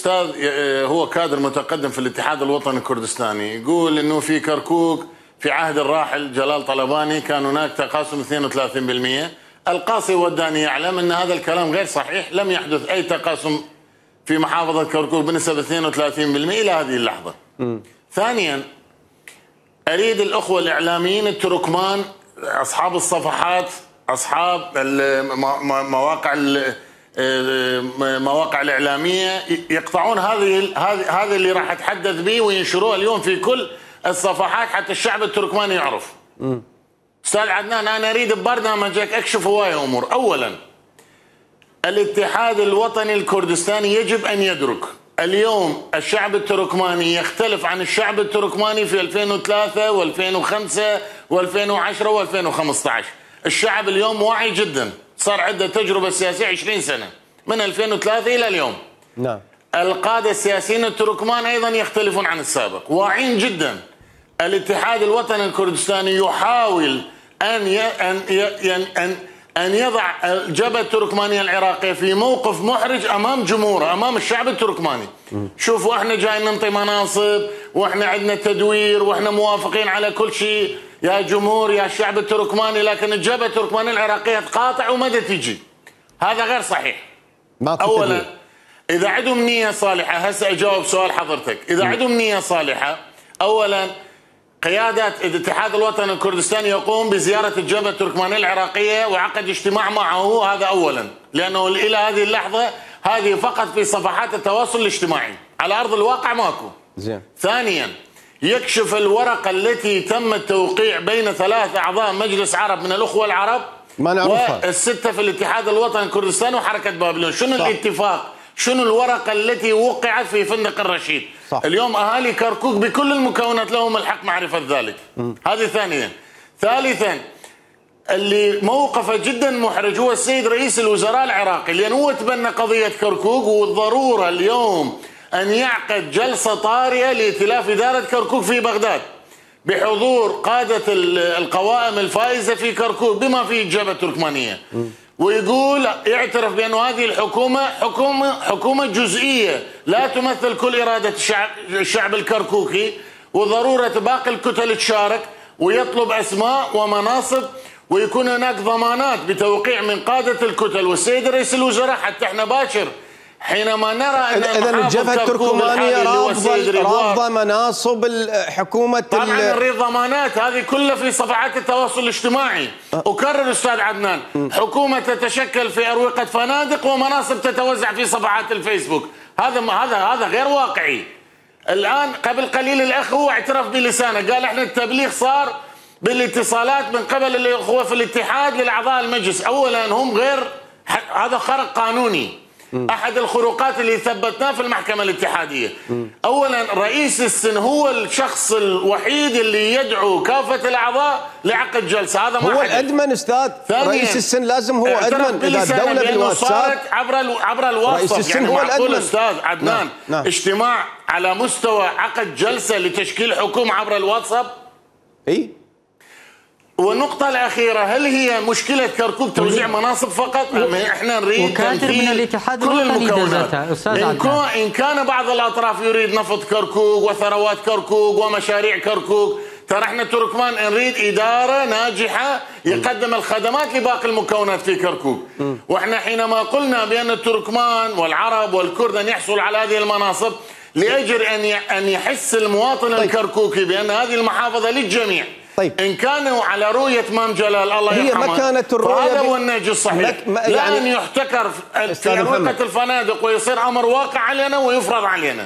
الاستاذ هو كادر متقدم في الاتحاد الوطني الكردستاني، يقول انه في كركوك في عهد الراحل جلال طلباني كان هناك تقاسم 32%. القاصي وداني يعلم ان هذا الكلام غير صحيح، لم يحدث اي تقاسم في محافظه كركوك بنسبه 32% الى هذه اللحظه. ثانيا، اريد الاخوه الاعلاميين التركمان اصحاب الصفحات، اصحاب المواقع الاعلاميه يقطعون هذه اللي راح اتحدث به وينشروها اليوم في كل الصفحات حتى الشعب التركماني يعرف. استاذ عدنان، انا اريد ببرنامجك اكشف هوايه امور. اولا، الاتحاد الوطني الكردستاني يجب ان يدرك اليوم الشعب التركماني يختلف عن الشعب التركماني في 2003 و2005 و2010 و2015. الشعب اليوم واعي جدا، صار عنده تجربه سياسيه 20 سنه من 2003 الى اليوم. نعم. القاده السياسيين التركمان ايضا يختلفون عن السابق، واعين جدا. الاتحاد الوطني الكردستاني يحاول ان يضع الجبهه التركمانيه العراقيه في موقف محرج امام جمهوره، امام الشعب التركماني. شوفوا، احنا جايين ننطي مناصب، واحنا عندنا تدوير، واحنا موافقين على كل شيء يا جمهور يا الشعب التركماني، لكن الجبهه التركمانيه العراقيه تقاطع وما تجي. هذا غير صحيح. اولا، اذا عندهم نيه صالحه، هسه اجاوب سؤال حضرتك، اذا عندهم نيه صالحه، اولا قيادة الاتحاد الوطني الكردستاني يقوم بزيارة الجبهة التركمانية العراقية وعقد اجتماع معه، هذا أولا، لأنه إلى هذه اللحظة هذه فقط في صفحات التواصل الاجتماعي، على أرض الواقع ماكو. زين. ثانيا، يكشف الورقة التي تم التوقيع بين 3 أعضاء مجلس عرب من الأخوة العرب ما نعرفها، والستة في الاتحاد الوطني الكردستاني وحركة بابليون. شنو الاتفاق؟ شنو الورقة التي وقعت في فندق الرشيد؟ صح. اليوم أهالي كركوك بكل المكونات لهم الحق معرفة ذلك. هذه ثانيا. ثالثا، اللي موقفه جدا محرج هو السيد رئيس الوزراء العراقي، لأن هو تبنى قضية كركوك، والضرورة اليوم أن يعقد جلسة طارئة لائتلاف إدارة كركوك في بغداد بحضور قادة القوائم الفائزة في كركوك بما فيه الجبهة التركمانية، ويقول يعترف بأن هذه الحكومة حكومة جزئية لا تمثل كل إرادة الشعب الكركوكي، وضرورة باقي الكتل تشارك، ويطلب أسماء ومناصب، ويكون هناك ضمانات بتوقيع من قادة الكتل والسيد رئيس الوزراء حتى احنا باكر حينما نرى ان إذا الجبهة التركمانية رافضة مناصب الحكومة. طبعا نريد ضمانات، هذه كلها في صفحات التواصل الاجتماعي. أكرر أستاذ عدنان، حكومة تتشكل في أروقة فنادق ومناصب تتوزع في صفحات الفيسبوك، هذا غير واقعي. الآن قبل قليل الأخ هو اعترف بلسانه، قال احنا التبليغ صار بالاتصالات من قبل الأخوة في الاتحاد للأعضاء المجلس. أولا هم هذا خرق قانوني، أحد الخروقات اللي ثبتناه في المحكمة الاتحادية. أولا، رئيس السن هو الشخص الوحيد اللي يدعو كافة الأعضاء لعقد جلسة، هذا ما هو الأدمن أستاذ. رئيس السن لازم هو أدمن. إذا الدولة بالواتساب صارت عبر الواتساب، رئيس السن يعني هو الأدمن. أستاذ عدنان، نعم. اجتماع على مستوى عقد جلسة لتشكيل حكومة عبر الواتساب؟ إيه. والنقطة الأخيرة، هل هي مشكلة كركوك توزيع مناصب فقط؟ احنا نريد تمثيل كل المكونات. إن كان بعض الأطراف يريد نفط كركوك وثروات كركوك ومشاريع كركوك، ترى احنا تركمان نريد إدارة ناجحة يقدم الخدمات لباقي المكونات في كركوك. واحنا حينما قلنا بأن التركمان والعرب والكرد أن يحصلوا على هذه المناصب لأجل أن يحس المواطن الكركوكي بأن هذه المحافظة للجميع. طيب. إن كانوا على رؤية مام جلال الله يرحمه، هي مكانة الرؤية فهذا هو النهج الصحيح. لا أن يحتكر في أروقة الفنادق ويصير أمر واقع علينا ويفرض علينا.